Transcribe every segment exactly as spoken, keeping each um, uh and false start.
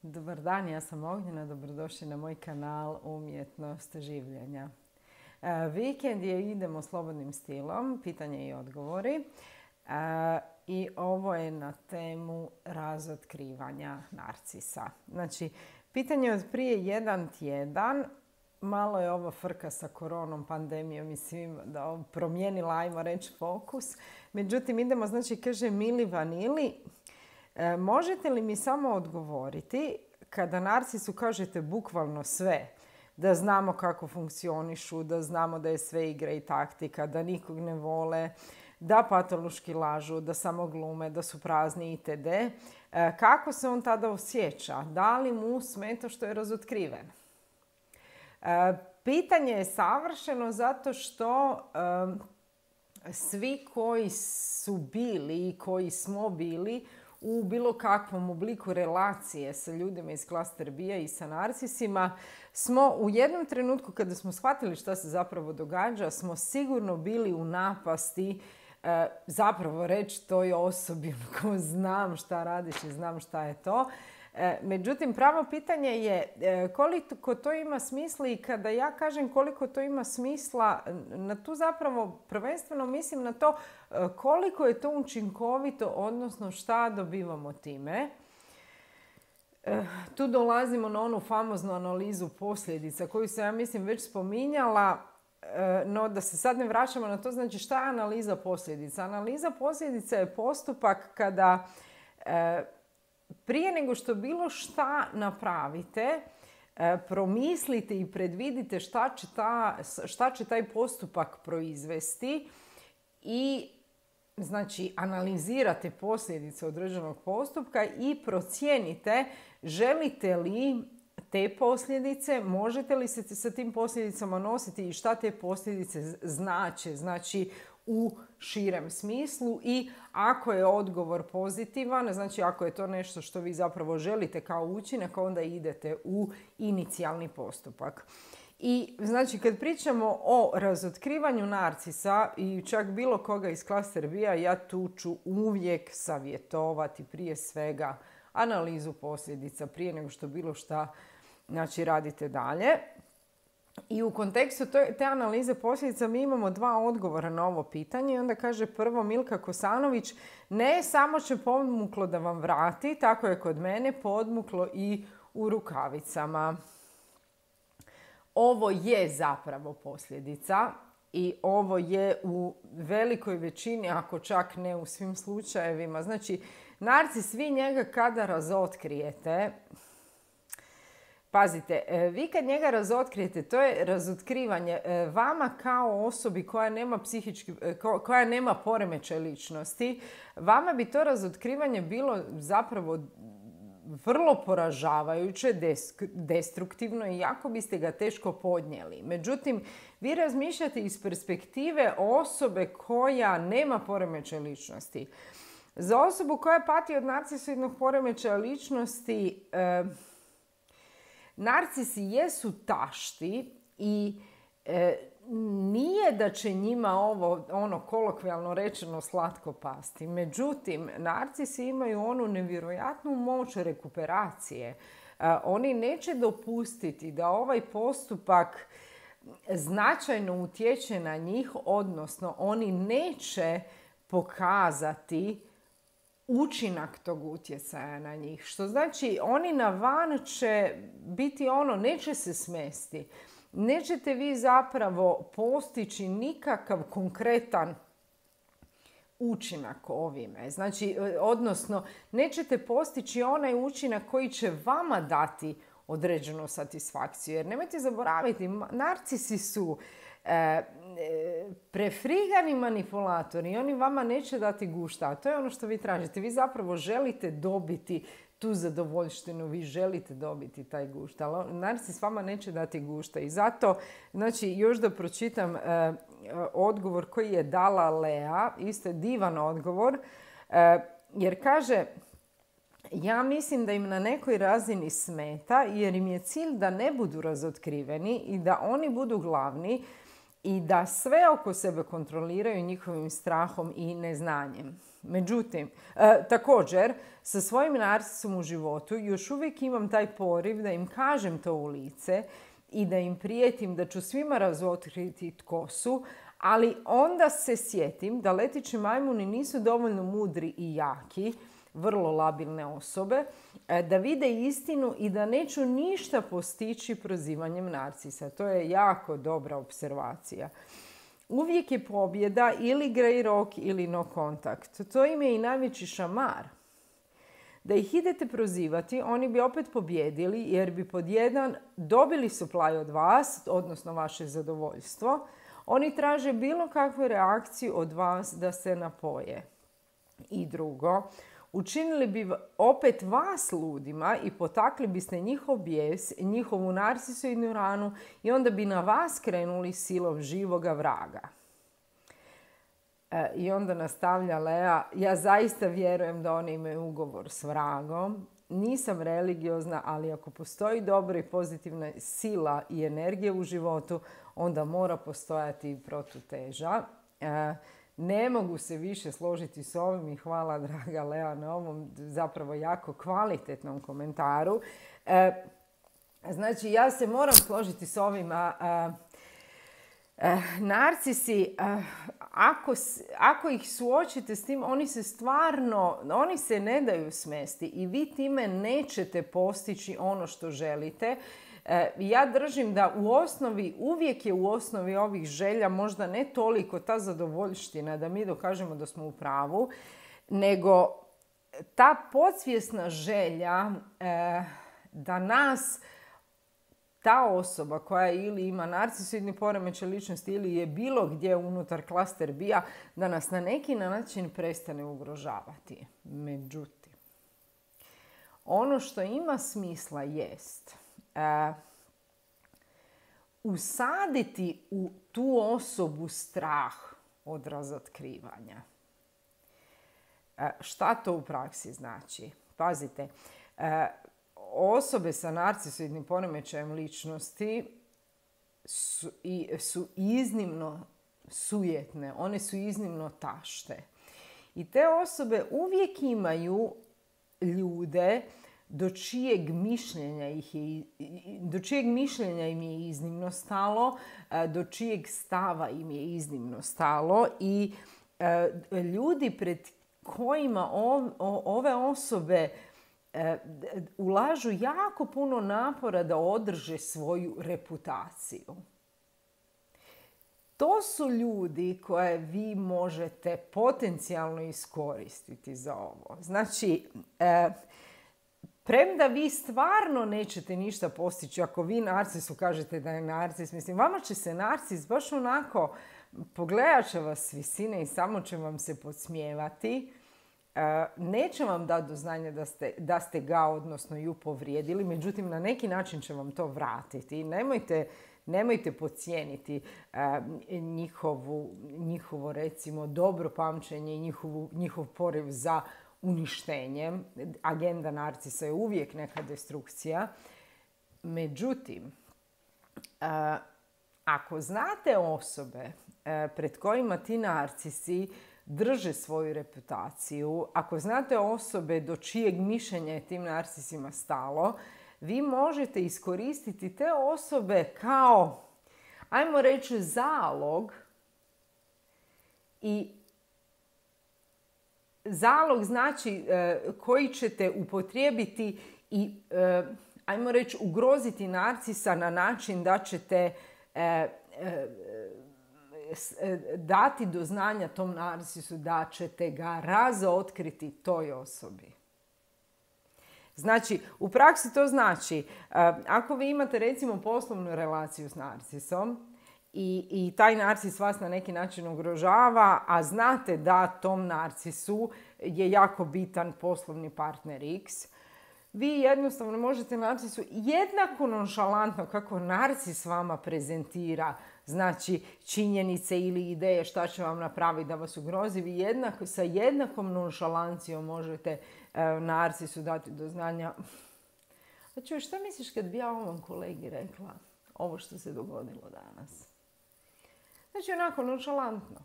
Dobar dan, ja sam Ognjena, dobrodošli na moj kanal Umjetnost življenja. E, vikend je Idemo slobodnim stilom, pitanje i odgovori. E, I ovo je na temu razotkrivanja narcisa. Znači, pitanje je od prije jedan tjedan. Malo je ovo frka sa koronom, pandemijom i svim da promijenila, ajmo reći, fokus. Međutim, idemo, znači, kaže Mili Vanili. E, možete li mi samo odgovoriti kada narcisu kažete bukvalno sve, da znamo kako funkcionišu, da znamo da je sve igra i taktika, da nikog ne vole, da patološki lažu, da samo glume, da su prazni itd. E, kako se on tada osjeća? Da li mu smeta što je razotkriven? E, pitanje je savršeno zato što e, svi koji su bili i koji smo bili u bilo kakvom obliku relacije sa ljudima iz klaster B-a i sa narcisima, smo u jednom trenutku kada smo shvatili šta se zapravo događa, smo sigurno bili u napasti e, zapravo reći toj osobi ko znam šta radiš i znam šta je to. E, međutim, pravo pitanje je e, koliko to ima smisla i kada ja kažem koliko to ima smisla, na tu zapravo prvenstveno mislim na to e, koliko je to učinkovito, odnosno šta dobivamo time. E, tu dolazimo na onu famoznu analizu posljedica koju sam, ja mislim, već spominjala, e, no da se sad ne vraćamo na to. Znači, šta je analiza posljedica? Analiza posljedica je postupak kada e, prije nego što bilo šta napravite, promislite i predvidite šta će, ta, šta će taj postupak proizvesti i znači analizirate posljedice određenog postupka i procijenite želite li te posljedice, možete li se sa tim posljedicama nositi i šta te posljedice znače, znači u širem smislu. I ako je odgovor pozitivan, znači ako je to nešto što vi zapravo želite kao učinak, onda idete u inicijalni postupak. I znači kad pričamo o razotkrivanju narcisa i čak bilo koga iz klaster B-a, ja tu ću uvijek savjetovati prije svega analizu posljedica prije nego što bilo šta znači radite dalje. I u kontekstu te analize posljedica mi imamo dva odgovora na ovo pitanje. I onda kaže prvo Milka Kosanović, ne samo će podmuklo da vam vrati, tako je kod mene podmuklo i u rukavicama. Ovo je zapravo posljedica i ovo je u velikoj većini, ako čak ne u svim slučajevima. Znači, narcis, vi njega kada razotkrijete, pazite, vi kad njega razotkrijete, to je razotkrivanje vama kao osobi koja nema psihički, koja nema poremećaj ličnosti. Vama bi to razotkrivanje bilo zapravo vrlo poražavajuće, destruktivno i jako biste ga teško podnijeli. Međutim, vi razmišljate iz perspektive osobe koja nema poremećaj ličnosti. Za osobu koja pati od narcisoidnog poremećaja ličnosti, eh, narcisi jesu tašti i e, nije da će njima ovo, ono kolokvijalno rečeno, slatko pasti. Međutim, narcisi imaju onu nevjerojatnu moć rekuperacije. E, oni neće dopustiti da ovaj postupak značajno utječe na njih, odnosno oni neće pokazati učinak tog utjecaja na njih. Što znači, oni na van će biti ono, neće se smesti. Nećete vi zapravo postići nikakav konkretan učinak ovime. Znači, odnosno, nećete postići onaj učinak koji će vama dati određenu satisfakciju. Jer nemojte zaboraviti, narcisi su E, prefrigani manipulatori i oni vama neće dati gušta, a to je ono što vi tražite. Vi zapravo želite dobiti tu zadovoljštinu, vi želite dobiti taj gušta, ali narcis vama neće dati gušta. I zato, znači, još da pročitam e, odgovor koji je dala Lea, isto je divan odgovor, e, jer kaže, ja mislim da im na nekoj razini smeta jer im je cilj da ne budu razotkriveni i da oni budu glavni i da sve oko sebe kontroliraju njihovim strahom i neznanjem. Međutim, e, također, sa svojim narcisom u životu još uvijek imam taj poriv da im kažem to u lice i da im prijetim da ću svima razotkriti tko su, ali onda se sjetim da letići majmuni nisu dovoljno mudri i jaki, vrlo labilne osobe, da vide istinu i da neću ništa postići prozivanjem narcisa. To je jako dobra observacija. Uvijek je pobjeda ili grey rock ili no kontakt. To im je i najveći šamar. Da ih idete prozivati, oni bi opet pobjedili jer bi pod jedan dobili supply od vas, odnosno vaše zadovoljstvo. Oni traže bilo kakvu reakciju od vas da se napoje. I drugo, učinili bi opet vas ludima i potakli biste njihov bijes, njihovu narcisoidnu ranu i onda bi na vas krenuli silom živoga vraga. E, I onda nastavlja Lea, ja zaista vjerujem da oni imaju ugovor s vragom. Nisam religiozna, ali ako postoji dobra i pozitivna sila i energija u životu, onda mora postojati i protuteža. E, Ne mogu se više složiti s ovim i hvala draga Lea na ovom zapravo jako kvalitetnom komentaru. E, znači ja se moram složiti s ovim. A, a, a, narcisi, a, ako, ako ih suočite s tim, oni se stvarno, oni se ne daju smesti i vi time nećete postići ono što želite. Ja držim da u osnovi, uvijek je u osnovi ovih želja možda ne toliko ta zadovoljština da mi dokažemo da smo u pravu, nego ta podsvjesna želja eh, da nas ta osoba koja ili ima narcisoidni poremećaj ličnosti ili je bilo gdje unutar klaster bija, da nas na neki način prestane ugrožavati. Međutim, ono što ima smisla jest Uh, usaditi u tu osobu strah od razotkrivanja. Uh, šta to u praksi znači? Pazite, uh, osobe sa narcisoidnim poremećajem ličnosti su, i, su iznimno sujetne, one su iznimno tašte. I te osobe uvijek imaju ljude do čijeg mišljenja ih je, do čijeg mišljenja im je iznimno stalo, do čijeg stava im je iznimno stalo i ljudi pred kojima ove osobe ulažu jako puno napora da održe svoju reputaciju. To su ljudi koje vi možete potencijalno iskoristiti za ovo. Znači, premda vi stvarno nećete ništa postići ako vi narcisu kažete da je narcis, mislim, vama će se narcis baš onako, pogledat će vas s visine i samo će vam se podsmijevati. Neće vam dati do znanja da ste, da ste ga, odnosno ju povrijedili, međutim na neki način će vam to vratiti. Nemojte, nemojte podcijeniti njihovu, njihovo recimo dobro pamćenje i njihovu, njihov poriv za uništenjem. Agenda narcisa je uvijek neka destrukcija. Međutim, ako znate osobe pred kojima ti narcisi drže svoju reputaciju, ako znate osobe do čijeg mišljenja je tim narcisima stalo, vi možete iskoristiti te osobe kao, ajmo reći, zalog. I zalog znači e, koji ćete upotrijebiti i, e, ajmo reći, ugroziti narcisa na način da ćete e, e, dati do znanja tom narcisu da ćete ga razotkriti toj osobi. Znači, u praksi to znači, ako vi imate recimo poslovnu relaciju s narcisom i, i taj narcis vas na neki način ugrožava, a znate da tom narcisu je jako bitan poslovni partner X, vi jednostavno možete narcisu jednako nonšalantno kako narcis vama prezentira, znači činjenice ili ideje šta će vam napraviti da vas ugrozi, vi jednako, sa jednakom nonšalancijom možete e, narcisu dati do znanja. A čuj, šta misliš kad bi ja ovom kolegi rekla ovo što se dogodilo danas? Znači onako nonšalantno.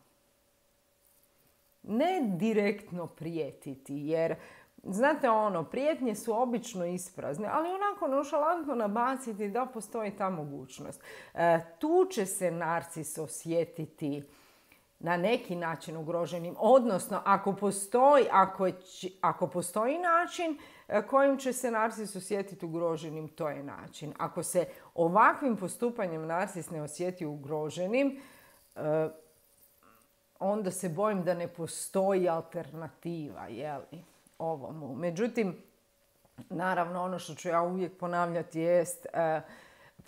Ne direktno prijetiti, jer znate ono, prijetnje su obično isprazne, ali onako nonšalantno nabaciti da postoji ta mogućnost. E, tu će se narcis osjetiti na neki način ugroženim, odnosno ako postoji, ako, će, ako postoji način kojim će se narcis osjetiti ugroženim, to je način. Ako se ovakvim postupanjem narcis ne osjeti ugroženim, e, onda se bojim da ne postoji alternativa, jeli, ovomu. Međutim, naravno, ono što ću ja uvijek ponavljati jest e,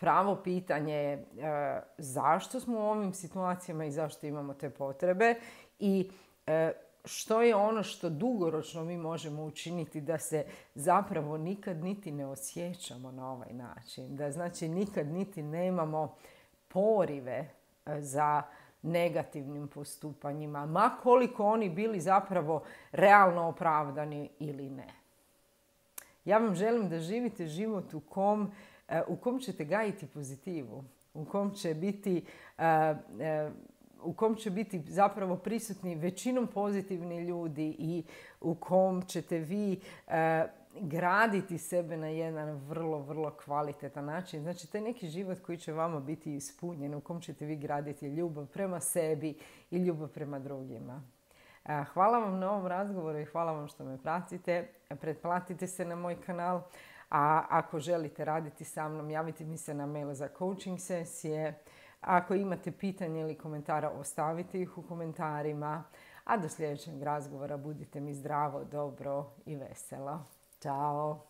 pravo pitanje je e, zašto smo u ovim situacijama i zašto imamo te potrebe i e, što je ono što dugoročno mi možemo učiniti da se zapravo nikad niti ne osjećamo na ovaj način. Da znači nikad niti nemamo porive za negativnim postupanjima, ma koliko oni bili zapravo realno opravdani ili ne. Ja vam želim da živite život u kom, u kom ćete gajiti pozitivu, u kom će biti, u kom će biti zapravo prisutni većinom pozitivni ljudi i u kom ćete vi graditi sebe na jedan vrlo, vrlo kvalitetan način. Znači, taj neki život koji će vama biti ispunjen, u kom ćete vi graditi ljubav prema sebi i ljubav prema drugima. Hvala vam na ovom razgovoru i hvala vam što me pratite. Pretplatite se na moj kanal, a ako želite raditi sa mnom, javite mi se na mail za coaching sesije. Ako imate pitanja ili komentara, ostavite ih u komentarima. A do sljedećeg razgovora budite mi zdravo, dobro i veselo. Ćao!